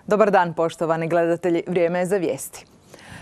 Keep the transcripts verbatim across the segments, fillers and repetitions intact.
Dobar dan, poštovani gledatelji. Vrijeme je za vijesti.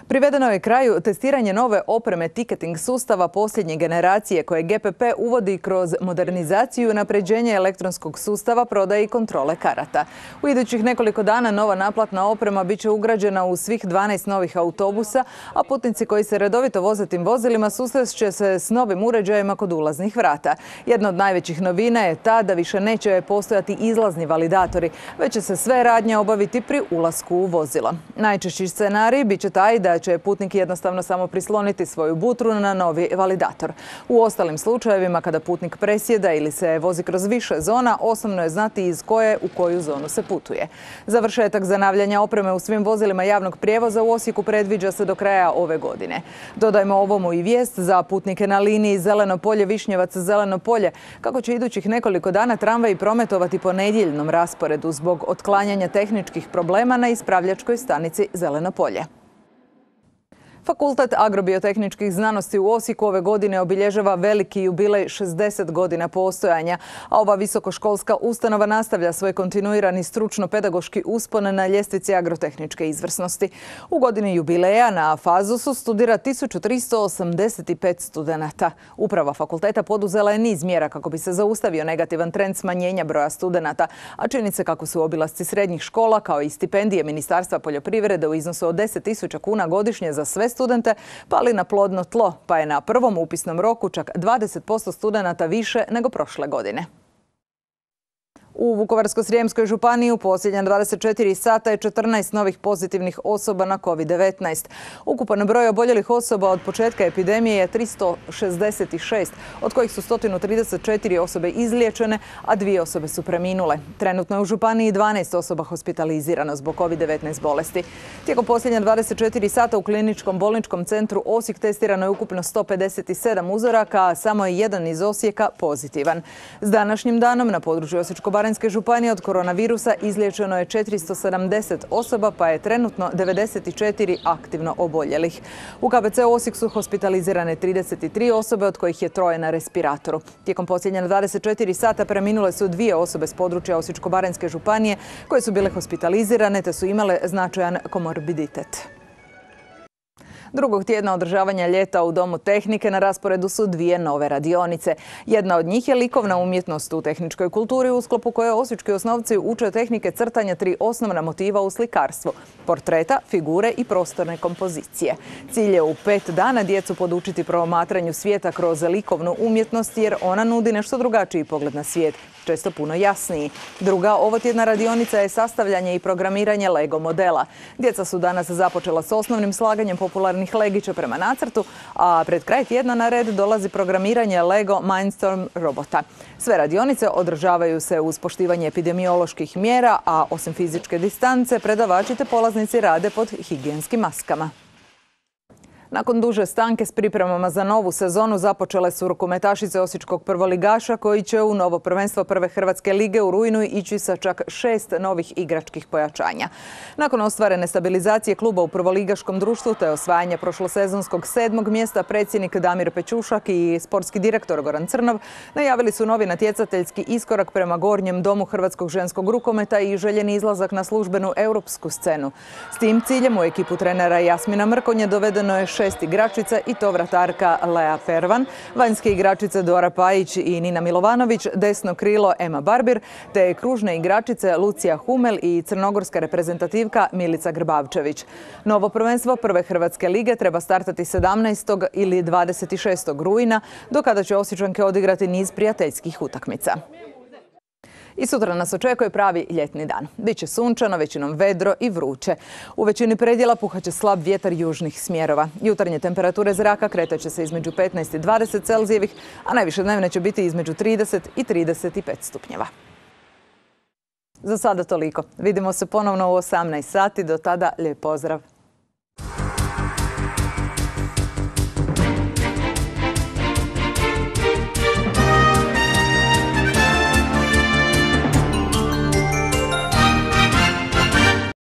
Privedeno je kraju testiranje nove opreme ticketing sustava posljednje generacije koje G P P uvodi kroz modernizaciju i unapređenje elektronskog sustava prodaje i kontrole karata. U idućih nekoliko dana nova naplatna oprema bit će ugrađena u svih dvanaest novih autobusa, a putnici koji se redovito voze tim vozilima susrest će se s novim uređajima kod ulaznih vrata. Jedna od najvećih novina je ta da više neće postojati izlazni validatori, već će se sve radnje obaviti pri ulasku u vozilo. Najčešći scenarij bit će taj da će putnik jednostavno samo prisloniti svoju butru na novi validator. U ostalim slučajevima, kada putnik presjeda ili se vozi kroz više zona, osnovno je znati iz koje u koju zonu se putuje. Završetak zanavljanja opreme u svim vozilima javnog prijevoza u Osijeku predviđa se do kraja ove godine. Dodajmo ovomu i vijest za putnike na liniji Zeleno polje-Višnjevac-Zeleno polje, kako će idućih nekoliko dana tramvaji prometovati po nedjeljnom rasporedu zbog otklanjanja tehničkih problema na ispravljačkoj stanici Zeleno polje. Fakultet agrobiotehničkih znanosti u Osijeku ove godine obilježava veliki jubilej šezdeset godina postojanja, a ova visokoškolska ustanova nastavlja svoj kontinuirani stručno-pedagoški uspon na ljestvici agrotehničke izvrsnosti. U godini jubileja na Fazusu studira tisuću tristo osamdeset pet studenata. Uprava fakulteta poduzela je niz mjera kako bi se zaustavio negativan trend smanjenja broja studenata, a čini se kako su obilasci srednjih škola kao i stipendije Ministarstva poljoprivrede u iznosu od deset tisuća kuna godišnje za sve studente pali na plodno tlo, pa je na prvom upisnom roku čak dvadeset posto studenata više nego prošle godine. U Vukovarsko-srijemskoj županiji u posljednja dvadeset četiri sata je četrnaest novih pozitivnih osoba na kovid devetnaest. Ukupan broj oboljelih osoba od početka epidemije je tristo šezdeset šest, od kojih su sto trideset četiri osobe izliječene, a dvije osobe su preminule. Trenutno je u županiji dvanaest osoba hospitalizirano zbog kovid devetnaest bolesti. Tijekom posljednja dvadeset četiri sata u kliničkom bolničkom centru Osijek testirano je ukupno sto pedeset sedam uzoraka, a samo je jedan iz Osijeka pozitivan. S današnjim danom na području Osječko-baranjske županije od koronavirusa izliječeno je četiristo sedamdeset osoba, pa je trenutno devedeset četiri aktivno oboljelih. U K B C Osijek su hospitalizirane trideset tri osobe, od kojih je troje na respiratoru. Tijekom posljednja dvadeset četiri sata preminule su dvije osobe s područja Osječko-baranjske županije koje su bile hospitalizirane te su imale značajan komorbiditet. Drugog tjedna održavanja ljeta u Domu tehnike na rasporedu su dvije nove radionice. Jedna od njih je likovna umjetnost u tehničkoj kulturi, u sklopu koje osječki osnovci uče tehnike crtanja tri osnovna motiva u slikarstvu: portreta, figure i prostorne kompozicije. Cilj je u pet dana djecu podučiti promatranju svijeta kroz likovnu umjetnost, jer ona nudi nešto drugačiji pogled na svijet, često puno jasniji. Druga ovotjedna radionica je sastavljanje i programiranje Lego modela. Djeca su danas započela s osnovnim slaganjem popularnih legića prema nacrtu, a pred kraj tjedna na red dolazi programiranje Lego Mindstorm robota. Sve radionice održavaju se uz poštivanje epidemioloških mjera, a osim fizičke distance, predavači te polaznici rade pod higijenskim maskama. Nakon duže stanke s pripremama za novu sezonu započele su rukometašice osječkog prvoligaša koji će u novo prvenstvo prve hrvatske lige u rujnu ići sa čak šest novih igračkih pojačanja. Nakon ostvarene stabilizacije kluba u prvoligaškom društvu te osvajanja prošlosezonskog sedmog mjesta, predsjednik Damir Pećušak i sportski direktor Goran Crnov najavili su novi natjecateljski iskorak prema gornjem domu hrvatskog ženskog rukometa i željeni izlazak na službenu europsku scenu. S tim ciljem u ekipu trenera Jasmina Mrkonje dovedeno je šest igračica i to vratarka Lea Pervan, vanjske igračice Dora Pajić i Nina Milovanović, desno krilo Ema Barbir, te kružne igračice Lucija Humel i crnogorska reprezentativka Milica Grbavčević. Novo prvenstvo prve hrvatske lige treba startati sedamnaestog ili dvadeset šestog rujna, do kada će Osječanke odigrati niz prijateljskih utakmica. I sutra nas očekuje pravi ljetni dan. Biće sunčano, većinom vedro i vruće. U većini predjela puhaće slab vjetar južnih smjerova. Jutarnje temperature zraka kretaće se između petnaest i dvadeset Celzijevih, a najviše dnevne će biti između trideset i trideset pet stupnjeva. Za sada toliko. Vidimo se ponovno u osamnaest sati. Do tada lijep pozdrav.